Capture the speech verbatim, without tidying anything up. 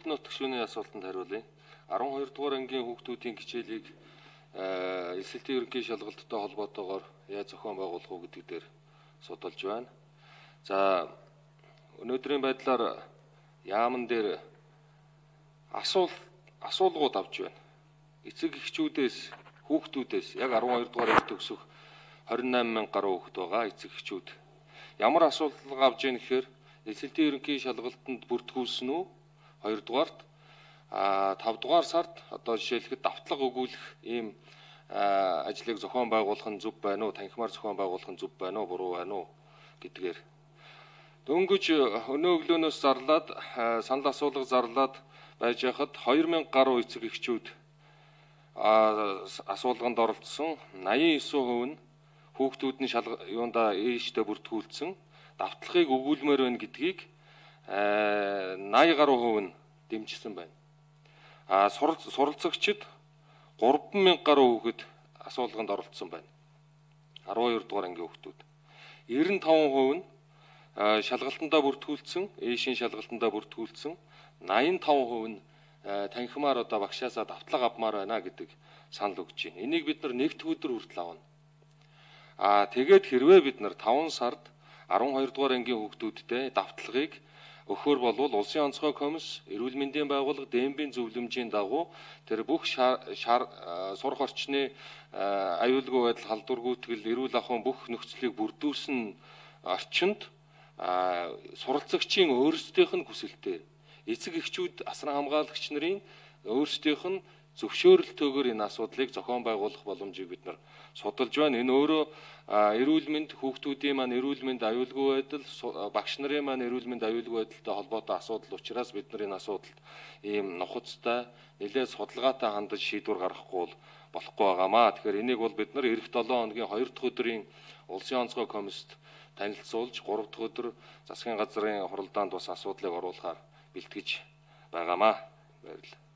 нот гишүүний асуултанд хариулъя. арван хоёр дугаар ангийн хүүхдүүдийн хичээлийг элсэлтийн ерөнхий шалгалттай холбоотойгоор яаж зохион байгуулах уу гэдэг дээр судалж байна. За өнөөдрийн байдлаар яамн дээр асуул асуулгууд авч байна. Эцэг эхчүүдээс хүүхдүүдээс яг арван хоёр дугаар анги төгсөх двадцать восемь мянга гаруй хүүхэд байгаа эцэг эхчүүд. Ямар асуулга авж яах гэхээр элсэлтийн ерөнхий шалгалтанд бүртгүүлсэн үү? хоёрдугаарт а тавдугаар сард одоо жишээлхэд давтлага өгүүлэх ийм ажлыг зохион байгуулах нь зөв байна уу? Танхимаар зохион байгуулах нь зөв байна уу? Буруу байна уу гэдгээр. Дөнгөж өнөө өглөөнөөс зарлаад санал асуулга зарлаад байж хахад хоёр мянга гаруй эцэг эхчүүд асуулганд оролцсон. восемьдесят девять хувь нь хүүхдүүд нь юунда ээжтэй бүртгүүлсэн давтлагыг өгүүлмээр байна гэдгийг восемьдесят гаруй хувь нь дэмжсэн байна. А суралцагчид гурван мянга гаруй хүүхэд асуулганд оролцсон байна. арван хоёр дугаар ангийн хүүхдүүд. девяносто пять хувь нь шалгалтандаа бүртгүүлсэн, ээшийн шалгалтандаа бүртгүүлсэн, восемьдесят пять хувь нь танхимаар одоо багшаасаа давтлага авмаар байна гэдэг санал өгч байна. Энийг бид нар нэгд өдөр хүртэл авна. А тэгээд хэрвээ бид нар таван сард арван хоёр дугаар ангийн хүүхдүүдтэй давтлагыг өгөхөр болвол улсын онцгой комисс, эрүүл мэндийн байгууллага, ДЭМ-ийн зөвлөмжийн дагуу тэр бүх сурах орчны аюулгүй байдал, халдваргүйтгэл, эрүүл ахуйн бүх нөхцөлийг бүрдүүлсэн орчинд суралцагчийн өөрсдийнх нь хүсэлтээр эцэг эхчүүд, асран хамгаалагч нарын өөрсдийнх нь зөвшөөрөлтөөр энэ асуудлыг зохион байгуулах боломжийг бид нар судалж байна. Энэ өөрөө эрүүл мэнд, хүүхдүүдийн маань эрүүл мэнд, аюулгүй байдал, багш нарын маань эрүүл мэнд, аюулгүй байдалтай холбоотой асуудал учраас бид нар энэ асуудалд ийм нухацтай, нэлээд судалгаатай хандаж шийдвэр гаргахгүй болохгүй байгаамаа. Тэгэхээр энийг бол бид нар эх долоон хоногийн хоёр дахь өдрийн улсын онцгой комиссд танилцуулж, гурав дахь өдөр засгийн газрын хуралдаанд бас асуудлыг оруулахаар бэлтгэж байгаамаа. Баярлалаа.